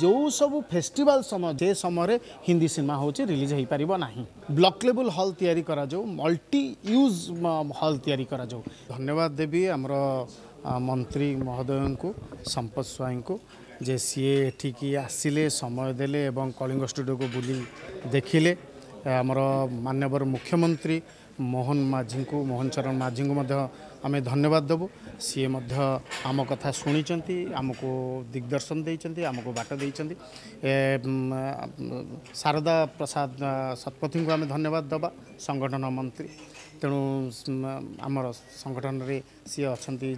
ଯେଉଁ ସବୁ ଫେଷ୍ଟିଭାଲ ସମୟ, ଯେ ସମୟରେ ହିନ୍ଦୀ ସିନେମା ହେଉଛି ରିଲିଜ୍ ହୋଇପାରିବ ନାହିଁ। ବ୍ଲକ୍ ଲେବୁଲ୍ ହଲ୍ ତିଆରି କରାଯାଉ, ମଲ୍ଟି ୟୁଜ୍ ହଲ୍ ତିଆରି କରାଯାଉ। ଧନ୍ୟବାଦ ଦେବି ଆମର ମନ୍ତ୍ରୀ ମହୋଦୟଙ୍କୁ, ସମ୍ପଦ ସ୍ୱାଇଁଙ୍କୁ, ଯେ ସିଏ ଏଠିକି ଆସିଲେ, ସମୟ ଦେଲେ ଏବଂ କଳିଙ୍ଗ ଷ୍ଟୁଡ଼ିଓକୁ ବୁଲି ଦେଖିଲେ। ଆମର ମାନ୍ୟବର ମୁଖ୍ୟମନ୍ତ୍ରୀ ମୋହନ ମାଝୀଙ୍କୁ, ମୋହନ ଚରଣ ମାଝୀଙ୍କୁ ମଧ୍ୟ ଆମେ ଧନ୍ୟବାଦ ଦେବୁ। ସିଏ ମଧ୍ୟ ଆମ କଥା ଶୁଣିଛନ୍ତି, ଆମକୁ ଦିଗ୍ଦର୍ଶନ ଦେଇଛନ୍ତି, ଆମକୁ ବାଟ ଦେଇଛନ୍ତି। ଶାରଦା ପ୍ରସାଦ ଶତପଥୀଙ୍କୁ ଆମେ ଧନ୍ୟବାଦ ଦେବା, ସଂଗଠନ ମନ୍ତ୍ରୀ। ତେଣୁ ଆମର ସଂଗଠନରେ ସିଏ ଅଛନ୍ତି,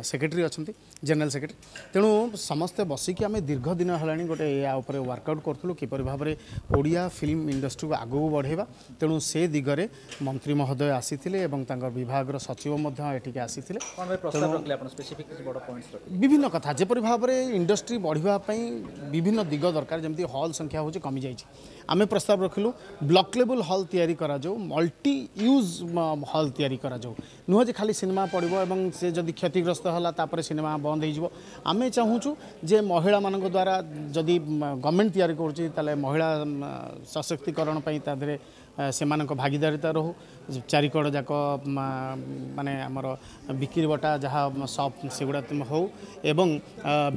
ସେକ୍ରେଟେରୀ ଅଛନ୍ତି, ଜେନେରାଲ ସେକ୍ରେଟେରୀ। ତେଣୁ ସମସ୍ତେ ବସିକି ଆମେ ଦୀର୍ଘ ଦିନ ହେଲାଣି ଗୋଟେ ୟା ଉପରେ ୱାର୍କଆଉଟ୍ କରୁଥିଲୁ, କିପରି ଭାବରେ ଓଡ଼ିଆ ଫିଲ୍ମ ଇଣ୍ଡଷ୍ଟ୍ରିକୁ ଆଗକୁ ବଢ଼ାଇବା। ତେଣୁ ସେ ଦିଗରେ ମନ୍ତ୍ରୀ ମହୋଦୟ ଆସିଥିଲେ ଏବଂ ତାଙ୍କ ବିଭାଗର ସଚିବ ମଧ୍ୟ ଏଠିକି ଆସିଥିଲେ। ବିଭିନ୍ନ କଥା, ଯେପରି ଭାବରେ ଇଣ୍ଡଷ୍ଟ୍ରି ବଢ଼ିବା ପାଇଁ ବିଭିନ୍ନ ଦିଗ ଦରକାର, ଯେମିତି ହଲ୍ ସଂଖ୍ୟା ହେଉଛି କମିଯାଇଛି। ଆମେ ପ୍ରସ୍ତାବ ରଖିଲୁ ବ୍ଲକ୍ ଲେବୁଲ୍ ହଲ୍ ତିଆରି କରାଯାଉ, ମଲ୍ଟି ୟୁଜ୍ ହଲ୍ ତିଆରି କରାଯାଉ। ନୁହଁ ଯେ ଖାଲି ସିନେମା ପଡ଼ିବ ଏବଂ ସେ ଯଦି କ୍ଷତିଗ୍ରସ୍ତ ହେଲା ତାପରେ ସିନେମା ବନ୍ଦ ହେଇଯିବ। ଆମେ ଚାହୁଁଛୁ ଯେ ମହିଳାମାନଙ୍କ ଦ୍ୱାରା ଯଦି ଗଭର୍ଣ୍ଣମେଣ୍ଟ ତିଆରି କରୁଛି, ତାହେଲେ ମହିଳା ସଶକ୍ତିକରଣ ପାଇଁ ତା ଦେହରେ ସେମାନଙ୍କ ଭାଗିଦାରିତା ରହୁ। ଚାରିକଡ଼ ଯାକ ମାନେ ଆମର ବିକ୍ରି ବଟା ଯାହା ସପ୍ ସେଗୁଡ଼ା ହେଉ ଏବଂ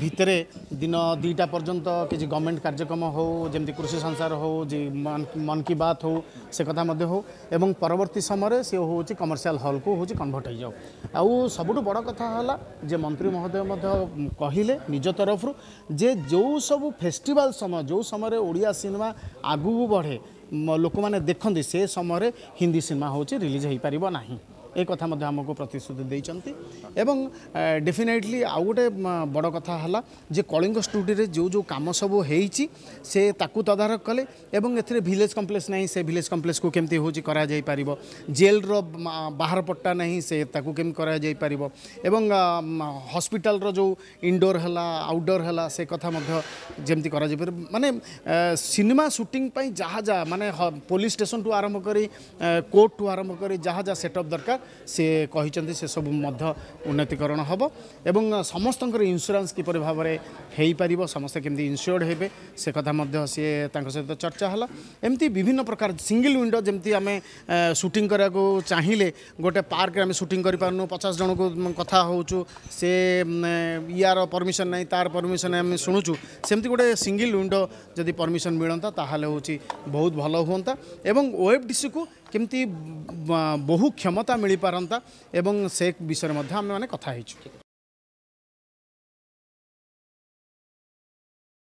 ଭିତରେ ଦିନ 2ଟା ପର୍ଯ୍ୟନ୍ତ କିଛି ଗଭର୍ଣ୍ଣମେଣ୍ଟ କାର୍ଯ୍ୟକ୍ରମ ହେଉ, ଯେମିତି କୃଷି ସଂସାର ହେଉ, ଯେ ମନ୍ କି ବାତ୍ ହେଉ, ସେ କଥା ମଧ୍ୟ ହେଉ ଏବଂ ପରବର୍ତ୍ତୀ ସମୟରେ ସେ ହେଉଛି କମର୍ସିଆଲ ହଲ୍କୁ ହେଉଛି କନଭର୍ଟ ହେଇଯାଉ। ଆଉ ସବୁଠୁ ବଡ଼ କଥା ହେଲା ଯେ ମନ୍ତ୍ରୀ ମହୋଦୟ ମଧ୍ୟ କହିଲେ ନିଜ ତରଫରୁ ଯେ ଯେଉଁ ସବୁ ଫେଷ୍ଟିଭାଲ ସମୟ, ଯେଉଁ ସମୟରେ ଓଡ଼ିଆ ସିନେମା ଆଗକୁ ବଢ଼େ, ଲୋକମାନେ ଦେଖନ୍ତି, ସେ ସମୟରେ ହିନ୍ଦୀ ସିନେମା ହେଉଛି ରିଲିଜ୍ ହୋଇପାରିବ ନାହିଁ। ଏ କଥା ମଧ୍ୟ ଆମକୁ ପ୍ରତିଶ୍ରୁତି ଦେଇଛନ୍ତି। ଏବଂ ଡେଫିନେଟଲି ଆଉ ଗୋଟେ ବଡ଼ କଥା ହେଲା ଯେ କଳିଙ୍ଗ ଷ୍ଟୁଡ଼ିଓରେ ଯେଉଁ ଯେଉଁ କାମ ସବୁ ହେଇଛି ସେ ତାକୁ ତଦାରଖ କଲେ ଏବଂ ଏଥିରେ ଭିଲେଜ୍ କମ୍ପ୍ଲେକ୍ସ ନାହିଁ, ସେ ଭିଲେଜ୍ କମ୍ପ୍ଲେକ୍ସକୁ କେମିତି ହେଉଛି କରାଯାଇପାରିବ, ଜେଲ୍ର ବାହାର ପଟ୍ଟା ନାହିଁ, ସେ ତାକୁ କେମିତି କରାଯାଇପାରିବ ଏବଂ ହସ୍ପିଟାଲର ଯେଉଁ ଇନଡୋର୍ ହେଲା, ଆଉଟଡୋର୍ ହେଲା, ସେ କଥା ମଧ୍ୟ ଯେମିତି କରାଯାଇପାରିବ। ମାନେ ସିନେମା ସୁଟିଂ ପାଇଁ ଯାହା ଯାହା, ମାନେ ପୋଲିସ ଷ୍ଟେସନଠୁ ଆରମ୍ଭ କରି କୋର୍ଟଠୁ ଆରମ୍ଭ କରି ଯାହା ଯାହା ସେଟଅପ୍ ଦରକାର, ସେ କହିଛନ୍ତି ସେସବୁ ମଧ୍ୟ ଉନ୍ନତିକରଣ ହେବ ଏବଂ ସମସ୍ତଙ୍କର ଇନ୍ସୁରାନ୍ସ କିପରି ଭାବରେ ହେଇପାରିବ, ସମସ୍ତେ କେମିତି ଇନ୍ସୁର୍ଡ ହେବେ, ସେ କଥା ମଧ୍ୟ ସିଏ ତାଙ୍କ ସହିତ ଚର୍ଚ୍ଚା ହେଲା। ଏମିତି ବିଭିନ୍ନ ପ୍ରକାର ସିଙ୍ଗଲ ୱିଣ୍ଡୋ, ଯେମିତି ଆମେ ସୁଟିଂ କରିବାକୁ ଚାହିଁଲେ ଗୋଟେ ପାର୍କରେ ଆମେ ସୁଟିଂ କରିପାରୁନୁ, 50 ଜଣକୁ କଥା ହେଉଛୁ, ସେ ୟାର ପରମିସନ୍ ନାହିଁ, ତାର ପରମିସନ୍ ନାହିଁ, ଆମେ ଶୁଣୁଛୁ। ସେମିତି ଗୋଟେ ସିଙ୍ଗଲ ୱିଣ୍ଡୋ ଯଦି ପରମିସନ୍ ମିଳନ୍ତା ତାହେଲେ ହେଉଛି ବହୁତ ଭଲ ହୁଅନ୍ତା ଏବଂ ଓଏଫ୍ଡିସିକୁ କେମିତି ବହୁ କ୍ଷମତା ମିଳିପାରନ୍ତା ଏବଂ ସେ ବିଷୟରେ ମଧ୍ୟ ଆମେମାନେ କଥା ହେଇଛୁ।